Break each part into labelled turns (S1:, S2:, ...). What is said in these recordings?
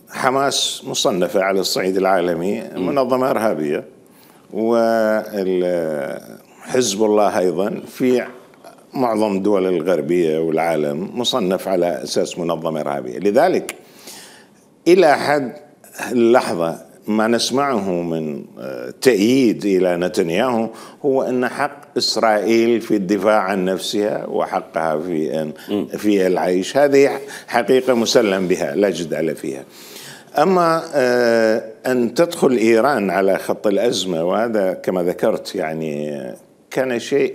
S1: حماس مصنفة على الصعيد العالمي منظمة إرهابية، وحزب الله أيضا في معظم الدول الغربية والعالم مصنف على أساس منظمة إرهابية. لذلك إلى حد اللحظة ما نسمعه من تأييد إلى نتنياهو هو أن حق إسرائيل في الدفاع عن نفسها وحقها في العيش، هذه حقيقة مسلم بها لا جدال فيها. أما أن تدخل إيران على خط الأزمة، وهذا كما ذكرت يعني كان شيء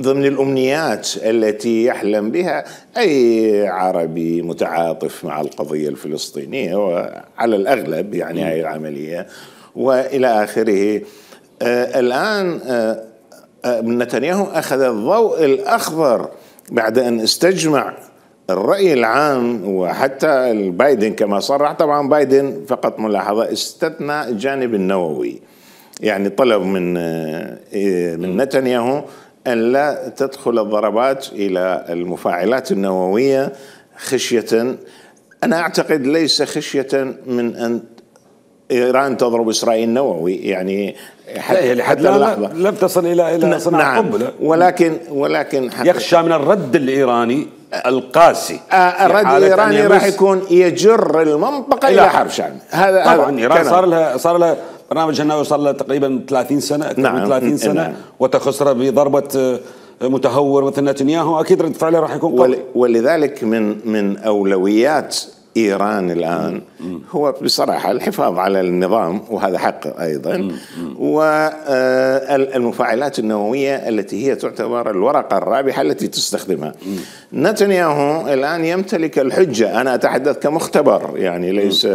S1: ضمن الأمنيات التي يحلم بها أي عربي متعاطف مع القضية الفلسطينية، وعلى الأغلب يعني هاي العملية وإلى آخره. الآن نتنياهو أخذ الضوء الأخضر بعد أن استجمع الرأي العام، وحتى البايدن كما صرح. طبعا بايدن فقط ملاحظة استثنى الجانب النووي، يعني طلب من نتنياهو أن لا تدخل الضربات إلى المفاعلات النووية خشية، أنا أعتقد ليس خشية من أن إيران تضرب إسرائيل نووي، يعني
S2: حتى اللحظة لم تصل إلى صناعة قنبلة.
S1: ولكن
S2: يخشى من الرد الإيراني القاسي.
S1: الرد الإيراني راح يكون يجر المنطقة إلى حرب شامل.
S2: هذا طبعا إيران صار لها برنامج النووي صار له تقريبا 30 سنة، أكثر من 30 سنة، وتخسر بضربة متهور مثل نتنياهو، أكيد رد فعله راح يكون قوي.
S1: ولذلك من أولويات إيران الآن هو بصراحة الحفاظ على النظام، وهذا حق أيضا، والمفاعلات النووية التي هي تعتبر الورقة الرابحة التي تستخدمها. نتنياهو الآن يمتلك الحجة، أنا أتحدث كمختبر، يعني ليس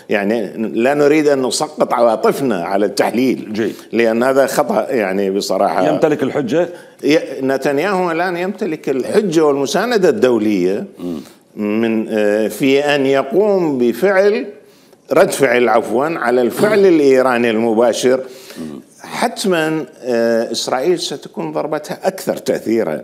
S1: يعني لا نريد أن نسقط عواطفنا على التحليل، لأن هذا خطأ يعني بصراحة.
S2: يمتلك الحجة،
S1: نتنياهو الآن يمتلك الحجة والمساندة الدولية من في أن يقوم بفعل رد فعل على الفعل الإيراني المباشر. حتما إسرائيل ستكون ضربتها أكثر تأثيرا.